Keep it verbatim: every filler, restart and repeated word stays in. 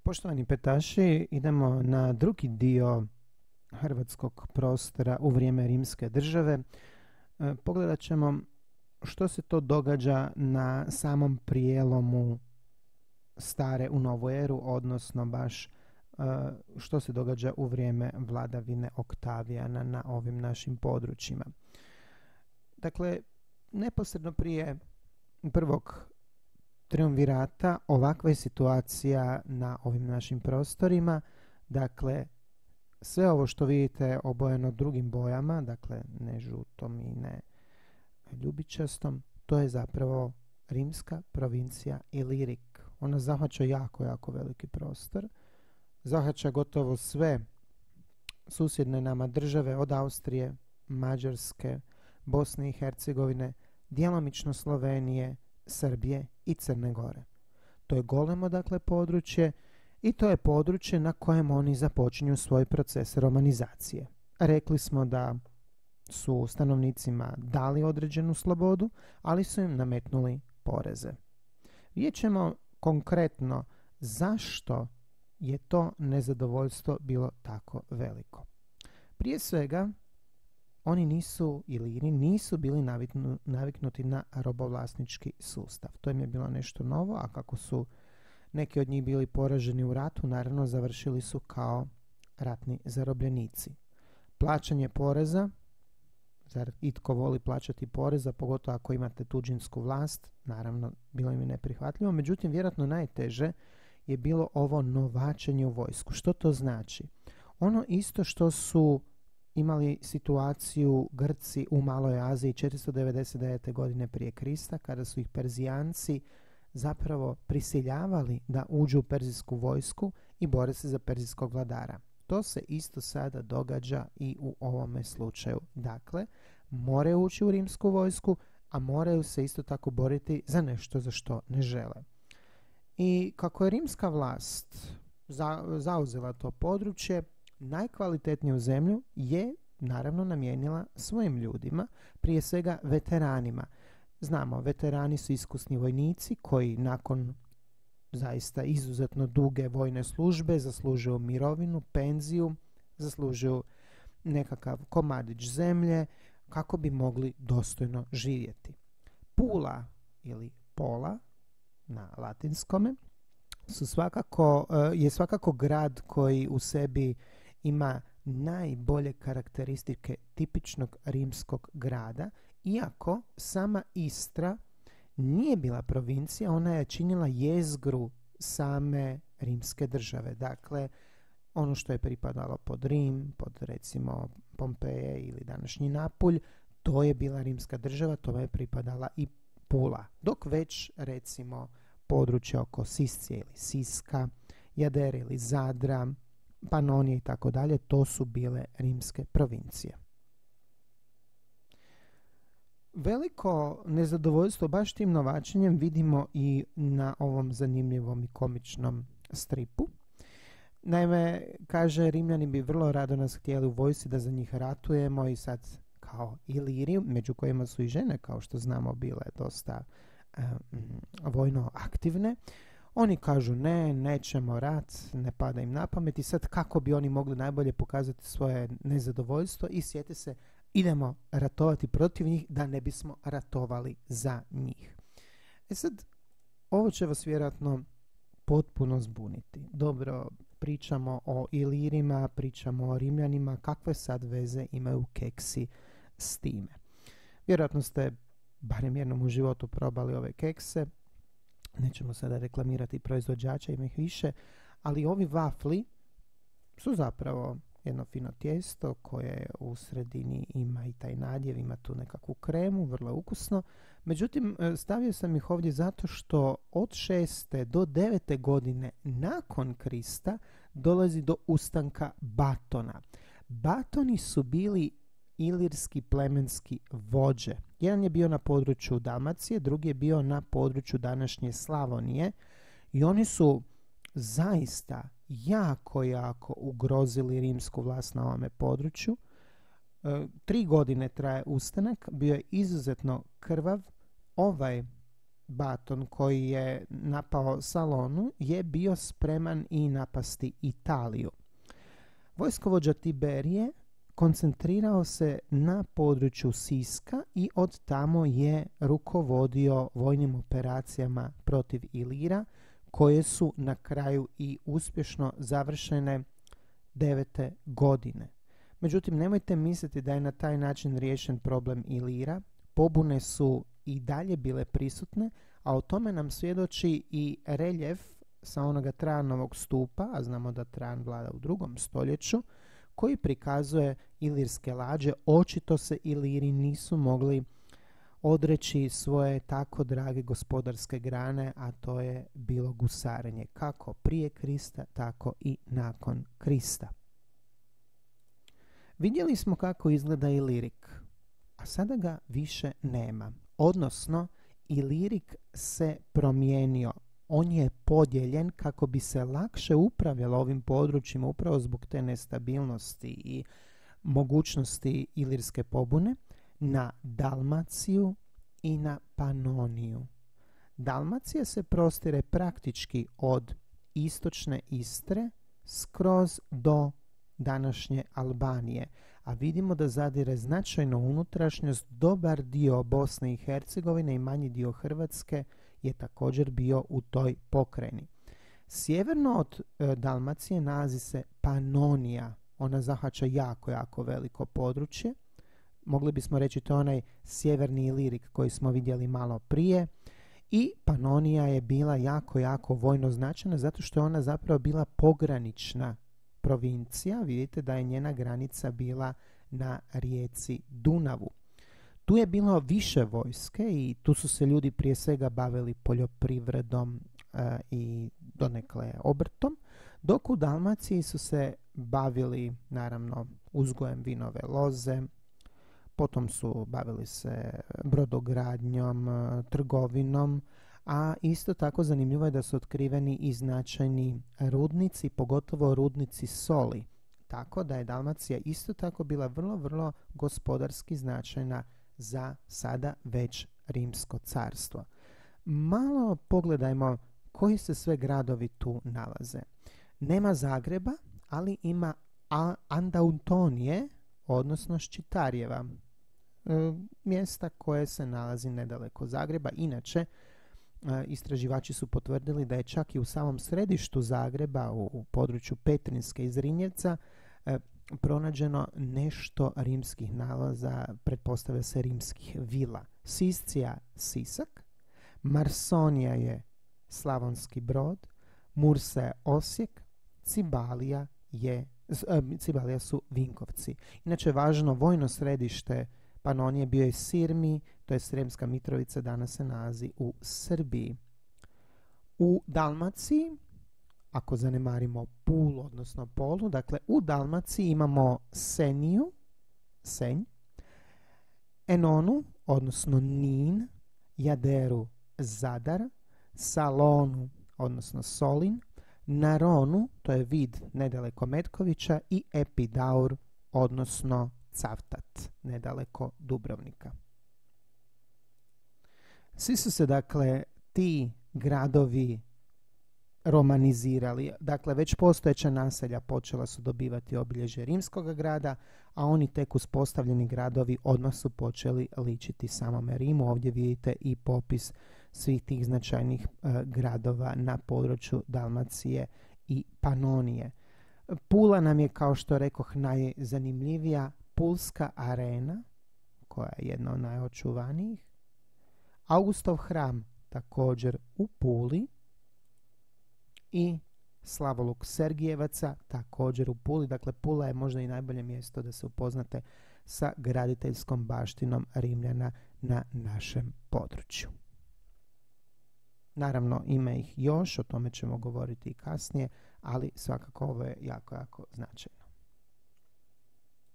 Poštovani petaši, idemo na drugi dio hrvatskog prostora u vrijeme rimske države. E, pogledat ćemo što se to događa na samom prijelomu stare u novu eru, odnosno baš e, što se događa u vrijeme vladavine Oktavijana na ovim našim područjima. Dakle, neposredno prije prvog triumvirata ovakva je situacija na ovim našim prostorima. Dakle, sve ovo što vidite obojeno drugim bojama, dakle ne žutom i ne ljubičastom, to je zapravo rimska provincija Ilirik. Ona zahvaća jako, jako veliki prostor. Zahvaća gotovo sve susjedne nama države od Austrije, Mađarske, Bosne i Hercegovine, djelomično Slovenije, Srbije i Crne Gore. To je golemo, dakle, područje i to je područje na kojem oni započinju svoj proces romanizacije. Rekli smo da su stanovnicima dali određenu slobodu, ali su im nametnuli poreze. Vidjet ćemo konkretno zašto je to nezadovoljstvo bilo tako veliko. Prije svega, oni nisu, Iliri, nisu bili naviknu, naviknuti na robovlasnički sustav. To im je bilo nešto novo, a kako su neki od njih bili poraženi u ratu, naravno završili su kao ratni zarobljenici. Plaćanje poreza, zar itko voli plaćati poreza, pogotovo ako imate tuđinsku vlast, naravno bilo im je neprihvatljivo, međutim vjerojatno najteže je bilo ovo novačenje u vojsku. Što to znači? Ono isto što su imali situaciju Grci u Maloj Aziji četiristo devedeset devete. godine prije Krista, kada su ih Perzijanci zapravo prisiljavali da uđu u perzijsku vojsku i bore se za perzijskog vladara. To se isto sada događa i u ovome slučaju. Dakle, moraju ući u rimsku vojsku, a moraju se isto tako boriti za nešto za što ne žele. I kako je rimska vlast za, zauzela to područje, najkvalitetniju zemlju je naravno namijenila svojim ljudima, prije svega veteranima. Znamo, veterani su iskusni vojnici koji nakon zaista izuzetno duge vojne službe zaslužuju mirovinu, penziju, zaslužuju nekakav komadić zemlje kako bi mogli dostojno živjeti. Pula ili Pola na latinskome su svakako, je svakako grad koji u sebi ima najbolje karakteristike tipičnog rimskog grada, iako sama Istra nije bila provincija, ona je činila jezgru same rimske države. Dakle, ono što je pripadalo pod Rim, pod recimo Pompeje ili današnji Napulj, to je bila rimska država, to je pripadala i Pula. Dok već recimo područje oko Siscije ili Siska, Jadere ili Zadra, Panonije i tako dalje, to su bile rimske provincije. Veliko nezadovoljstvo baš tim novačenjem vidimo i na ovom zanimljivom i komičnom stripu. Naime, kaže, Rimljani bi vrlo rado nas htjeli u vojsci da za njih ratujemo i sad kao Iliri, među kojima su i žene, kao što znamo, bile dosta um, vojno aktivne. Oni kažu ne, nećemo rat, ne pada im na pamet i sad kako bi oni mogli najbolje pokazati svoje nezadovoljstvo i sjete se, idemo ratovati protiv njih da ne bismo ratovali za njih. E sad, ovo će vas vjerojatno potpuno zbuniti. Dobro, pričamo o Ilirima, pričamo o Rimljanima, kakve sad veze imaju keksi s time? Vjerojatno ste barem jednom u životu probali ove kekse. Nećemo sada reklamirati proizvođača, ima ih više, ali ovi vafli su zapravo jedno fino tijesto koje u sredini ima i taj nadjev, ima tu nekakvu kremu, vrlo ukusno. Međutim, stavio sam ih ovdje zato što od šeste do devete godine nakon Krista dolazi do ustanka Batona. Batoni su bili ilirski plemenski vođe. Jedan je bio na području Dalmacije, drugi je bio na području današnje Slavonije i oni su zaista jako, jako ugrozili rimsku vlast na ovome području. E, tri godine traje ustanak, bio je izuzetno krvav. Ovaj Baton koji je napao Salonu je bio spreman i napasti Italiju. Vojskovođa Tiberije koncentrirao se na području Siska i od tamo je rukovodio vojnim operacijama protiv Ilira, koje su na kraju i uspješno završene devete godine. Međutim, nemojte misliti da je na taj način riješen problem Ilira. Pobune su i dalje bile prisutne, a o tome nam svjedoči i reljef sa onoga Trajanovog stupa, a znamo da Trajan vlada u drugom stoljeću, koji prikazuje ilirske lađe. Očito se Iliri nisu mogli odreći svoje tako drage gospodarske grane, a to je bilo gusarenje, kako prije Krista, tako i nakon Krista. Vidjeli smo kako izgleda Ilirik, a sada ga više nema. Odnosno, Ilirik se promijenio. On je podijeljen kako bi se lakše upravljalo ovim područjima upravo zbog te nestabilnosti i mogućnosti ilirske pobune na Dalmaciju i na Panoniju. Dalmacija se prostire praktički od istočne Istre skroz do današnje Albanije, a vidimo da zadire značajno unutrašnjost. Dobar dio Bosne i Hercegovine i manji dio Hrvatske je također bio u toj pokrajini. Sjeverno od e, Dalmacije nalazi se Panonija. Ona zahvaća jako, jako veliko područje. Mogli bismo reći to onaj sjeverni Ilirik koji smo vidjeli malo prije. I Panonija je bila jako, jako vojno značajna zato što je ona zapravo bila pogranična provincija. Vidite da je njena granica bila na rijeci Dunavu. Tu je bilo više vojske i tu su se ljudi prije svega bavili poljoprivredom e, i donekle obrtom, dok u Dalmaciji su se bavili naravno uzgojem vinove loze, potom su bavili se brodogradnjom, trgovinom, a isto tako zanimljivo je da su otkriveni i značajni rudnici, pogotovo rudnici soli. Tako da je Dalmacija isto tako bila vrlo, vrlo gospodarski značajna za sada već Rimsko carstvo. Malo pogledajmo koji se sve gradovi tu nalaze. Nema Zagreba, ali ima Andautonije, odnosno Ščitarjeva, e, mjesta koje se nalazi nedaleko Zagreba. Inače, e, istraživači su potvrdili da je čak i u samom središtu Zagreba, u, u području Petrinjske i Zrinjevca, e, pronađeno nešto rimskih nalaza, pretpostavlja se rimskih vila. Siscija, Sisak, Marsonija je Slavonski Brod, Mursa je Osijek, Cibalija je Cibalija su Vinkovci. Inače, važno vojno središte Panonije bio je Sirmi, to je Sremska Mitrovica, danas se nalazi u Srbiji. U Dalmaciji, ako zanemarimo Pulu, odnosno Polu, dakle u Dalmaciji imamo Seniju, Senj, Enonu, odnosno Nin, Jaderu, Zadar, Salonu, odnosno Solin, Naronu, to je vid nedaleko Metkovića, i Epidaur, odnosno Cavtat, nedaleko Dubrovnika. Svi su se, dakle, ti gradovi romanizirali. Dakle, već postojeća naselja počela su dobivati obilježje rimskog grada, a oni tek uspostavljeni gradovi odmah su počeli ličiti samome Rimu. Ovdje vidite i popis svih tih značajnih e, gradova na području Dalmacije i Panonije. Pula nam je, kao što rekoh, najzanimljivija. Pulska arena, koja je jedna od najočuvanijih. Augustov hram također u Puli i Slavoluk Sergijevaca također u Puli. Dakle, Pula je možda i najbolje mjesto da se upoznate sa graditeljskom baštinom Rimljana na našem području. Naravno, ima ih još, o tome ćemo govoriti i kasnije, ali svakako ovo je jako, jako značajno.